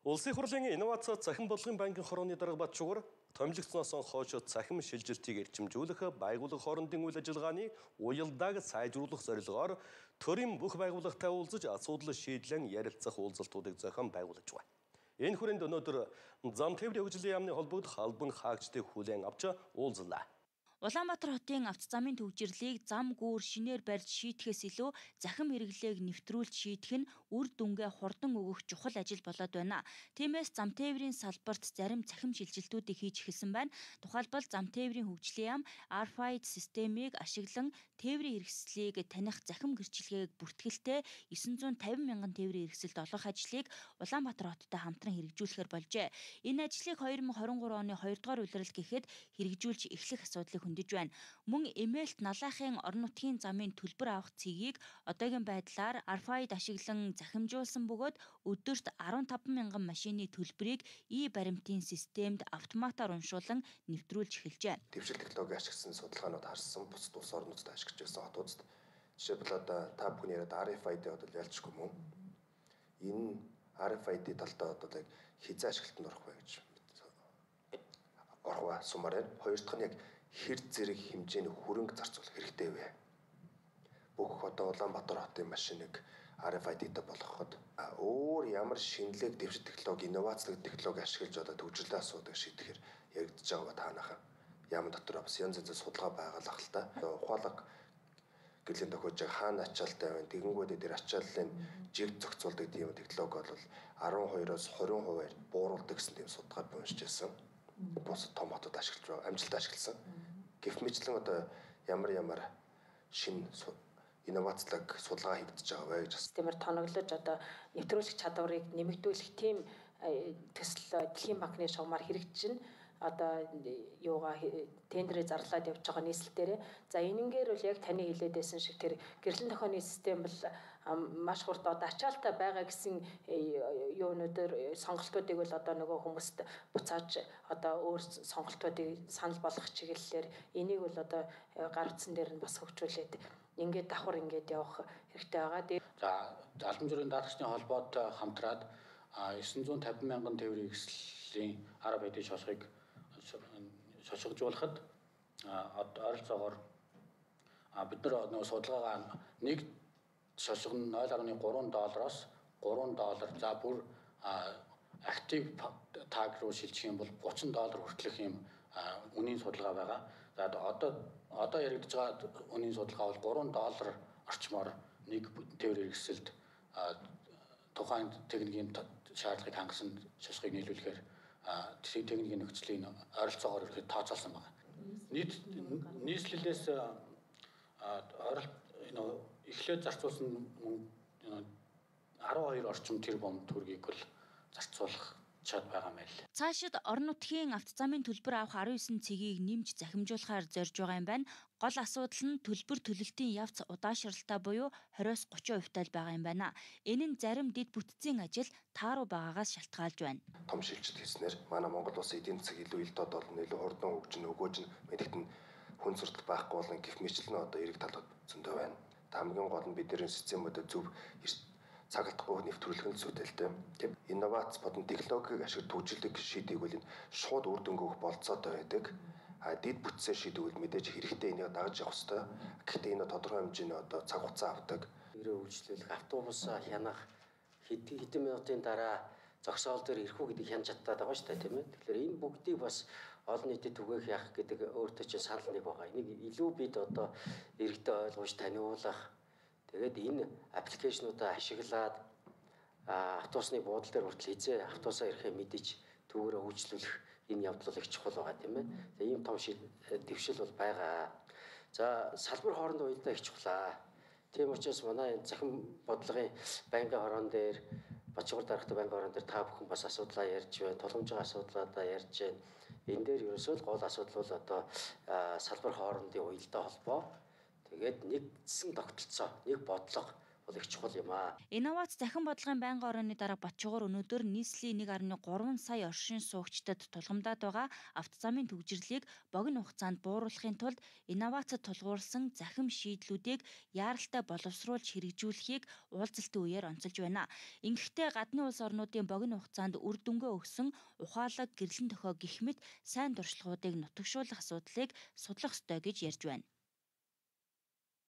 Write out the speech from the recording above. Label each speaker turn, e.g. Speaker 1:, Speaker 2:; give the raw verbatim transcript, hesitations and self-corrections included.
Speaker 1: Улсын хурлын инновац цахим бодлогын банкын хорооны дарга Батчуугар томилогцсноос хойш цахим шилжилтийг эрчимжүүлэх байгууллага хоорондын үйл ажиллагааны уялдааг сайжруулах зорилгоор төрийн бүх байгууллагатай уулзаж асуудал шийдлэн ярилцах уулзалтуудыг зохион байгуулж байна. Энэ хүрээнд өнөөдөр зам тээврийн хөгжлийн яамны холбогдох албан хаагчдыг хүлээн авч уулзлаа.
Speaker 2: Улаанбаатар хотын авто замын төвжирлийг зам гүүр шинээр барьж шийтгэхээс илүү захим хэрэглээг нэвтрүүлж шийдэх нь үр дүнгээ хурдан өгөх чухал ажил болоод байна. Тиймээс зам тээврийн салбарт зарим захим шилжилтүүдийг хийж эхэлсэн байна. Тухайлбал зам тээврийн хөгжлийн яам ар эф ай ди системийг ашиглан тээврийн хэрэгслийг таних захим гэрчлэгийг бүртгэлтэй девять hundred fifty мянган тээврийн хэрэгсэлд олгох ажлыг Улаанбаатар хоттой хамтран хэрэгжүүлэхээр болжээ. Энэ ажлыг two thousand twenty-three оны two дугаар улирал гэхэд хэрэгжүүлж эхлэх асуудлыг хөндөж байна. Мөн эмээлт налаахын орон нутгийн замын төлбөр авах цэгийг одоогийн байдлаар ар эф ай ди ашиглан захимжуулсан бөгөөд өдөрт fifteen мянган машины төлбөрийг и-баримтын системд автоматар уншуулан нэвтрүүлж эхэлжээ.
Speaker 3: Дэвшил технологи ашигласан судалгаанууд харсан бус улс орнуудад ашиглаж байсан хотуудад жишээлбэл одоо та бүхний яриад ар эф ай ди одоо ялцчихгүй мөн. Энэ ар эф ай ди талдаа одоо яг хязаа ашиглалтанд орох вэ гэж орхоо сумаар хоёр дахь нь яг хэр зэрэг хэмжээний хөрөнгө зарцуулах хэрэгтэй вэ? Бүх одоо Улаанбаатар хотын машиныг ар эф ай ди-тэй болгоход өөр ямар шинэлэг дэвшил технологи, инновацлог технологи ашиглаж одоо төвжирлээ асуудаг шийдэхээр яригдж байгаа ба таанах яам дотор бас янз янзын судалгаа байгалах л та. Ухаалаг гэрлэн тохиож хаана ачаалтай байна? Тэгэнгүүт дээр ачааллын жиг зохицуулдаг тийм технологи бол twelve-оос twenty хувиар бууруулдаг гэсэн тийм судалгаа уншиж байсан. Бус том хотод ашиглаж байгаа, амжилттай ашигласан. Гэвч мэтлэн одоо ямар ямар шин инновацлог судалгаа хийгдэж байгаа вэ гэж бас
Speaker 4: тиймэр тоноглож одоо нэвтрүүлэх чадварыг нэмэгдүүлэх тийм төсөл Дэлхийн банкны шугамар хэрэгжиж одоо юугаа тендерээ зарлаад явж байгаа нийслэлээр. За энэнгээр бол яг таны хэлээдсэн шиг тэр гэрлэн тохионы систем бол маш хурд одоо ачаалтаа байгаа гэсэн юунуудаар сонголтуудыг бол одоо нөгөө хүмүүст буцааж одоо өөр сонголтуудыг санал болгох чиглэлээр энийг бол одоо гар утсан дээр нь бас хөгжүүлээд ингээд давхар ингээд явах хэрэгтэй байгаа.
Speaker 5: За албан журийн даатгчны холбоотой хамтраад nine hundred fifty мянган тээврийн хэрэгслийн ар эф ай ди шалгыг шалгажуулахад ойролцоогоор бид нар нөгөө судалгаагаа нэг шалгал нь zero point three доллароос three доллар за бүр актив таг руу шилжих юм бол thirty доллар хүртэлх юм үнийн судалгаа байгаа. За одоо одоо яригдж байгаа үнийн судалгаа бол three доллар орчмоор нэг тээврийн хэрэгсэлд тухайн техникийн шаардлагыг хангасан шалгыг нийлүүлэхээр техникийн нөхцөлийн ойролцоогоор ихэд тооцоолсон байна. Нийт нийслэлээс ойролт эхлээд зарцуулсан twelve орчим тэрбум төгрөгийг бол зарцуулах чад байгаа мэл.
Speaker 2: Цаашид орон нутгийн автозамын төлбөр авах nineteen цэгийг нэмж захимжуулахаар зорж байгаа юм байна. Гол асуудал нь төлбөр төлөлтийн явц удаашралтай буюу twenty-оос thirty хувьтай байгаа юм байна. Энэ нь зарим дэд бүтцийн ажил тааруу байгаагаас шалтгаалж байна.
Speaker 3: Том шилжилт хийснээр манай Монгол улсын эдийн засаг илүү ил дод болно, илүү хурдан хөгжинө, өгөөж нь мэдэгт нь хүн суртал байхгүй болон гэх мэтлэн одоо эрэг талууд зөндөө байна. Хамгийн гол нь бидний системүүдэд зөв цаг алдахгүй нэвтрүүлэх нь зүйтэй. Тэг инновац бодон технологиг ашиглаж төвжилдэг шийдийг бол энэ шууд үр дүнг өгөх болцоотой байдаг. А дэд бүтцээ шийдвэл мэдээж хэрэгтэй энийг дагаж явах хэрэгтэй. Гэхдээ энэ тодорхой хэмжээний одоо цаг хугацаа авдаг.
Speaker 6: Тэрээ үйлчлүүлэх автобус хянах хэдэн минутын дараа зогсоол дээр ирэх үү гэдэг хянж чадтаад байгаа шүү дээ, тийм ээ. Тэгэхээр энэ бүгдийг бас олон нийтэд түгээх яах гэдэг өөртөө чинь санал нэг байгаа. Энийг илүү бид одоо иргэдэд ойлгуулж таниулах. Тэгээд энэ аппликейшнуудаа ашиглаад автобусны буудлын дээр хүртэл хизээ автобусаа ирэхээ мэдэж түүгээрээ үйлчлүүлэх энэ явдал их чухал байгаа тийм ээ. За ийм том дэвшил бол байгаа. За салбар хоорондоо уялдаа их чухлаа. Тийм учраас манай захим бодлогын банкны хорон дээр Бачуугар даргатай банкны хорон дээр та бүхэн бас асуудлаа ярьж байна. Тулгамжийн асуудлуудаа ярьж байна. Энэ дээр ерөөсөө л гол асуудал бол одоо салбар хоорондын уялдаа холбоо. Тэгээд нэгдсэн тогтолцоо, нэг бодлого бол их чухал юм аа.
Speaker 2: Инновац захин бодлогын байнгын орооны дарга Батчуугар өнөөдөр нийслэлийн нэг гаруй гурван сая оршин суугчдад тулгамдаад байгаа автозамын төвжирлийг богино хугацаанд бууруулахын тулд инновацид тулгуурласан захим шийдлүүдийг яаралтай боловсруулж хэрэгжүүлэхийг уулзалтын үеэр онцолж байна. Ингэхдээ гадны улс орнуудын богино хугацаанд үр дүнгээ өгсөн ухаалаг гэрлэн тохио гэх мэт сайн туршлагуудыг нутагшуулах асуудлыг судлах ёстой гэж ярьж байна.